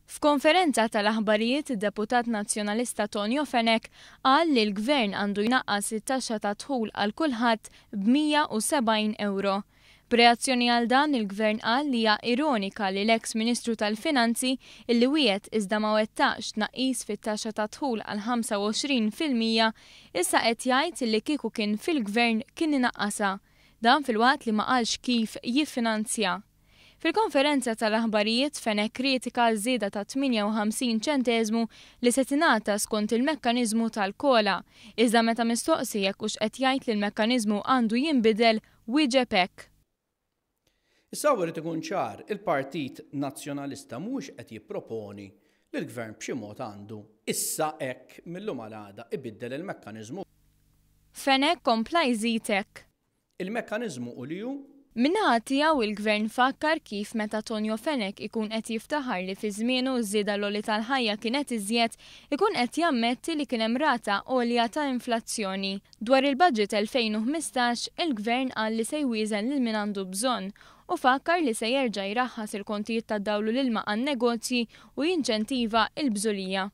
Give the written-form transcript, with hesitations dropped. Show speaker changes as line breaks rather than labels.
F'konferenza tal-aħbarijiet id-deputat Nazzjonalista Tonio Fenech qal li l-Gvern għandu jnaqqas it-taxxa tad-dħul għal kulħadd b'170 ewro. B'reazzjoni għal dan, il-Gvern qal li hija ironika li l-eks Ministru tal-Finanzi, illi wiegħed iżda ma wettaqx tnaqqis fit-taxxa tad-dħul għal 25%, issa qed jgħid illi kieku kien fil-Gvern kien inaqqasha. Dan filwaqt li ma qalx kif jiffinanzja. Fil-konferenza tal-aħbarijiet, Fenech kritika ż-żieda ta' 58 ċenteżmu li se tingħata skont il-mekkaniżmu tal-COLA. Iżda meta mistoqsi jekk hux qed jgħid li l-mekkaniżmu għandu jinbidel, wieġeb hekk.
Issa hawn irid ikun ċar, il-Partit Nazzjonalista mhuwiex qed jipproponi li l-Gvern b'xi mod għandu issa hekk mil-lum għal għada ibiddel il-mekkaniżmu.
Fenech kompla jżid hekk.
Il-mekkaniżmu hu li hu.
Min-naħa tiegħu il-Gvern fakkar kif meta Tonio Fenech ikun qed jiftaħar li fi żmienu ż-żieda l-għoli tal-ħajja kienet iżjed, ikun qed jammetti li kien hemm rata għolja ta' inflazzjoni. Dwar il-Budget 2015, il-Gvern qal li se jwieżen lil min għandu bżonn u fakkar li se jerġa' jraħħas il-kontijiet tad-dawl u l-ilma għan-negozji u jinċentiva l-bżulija.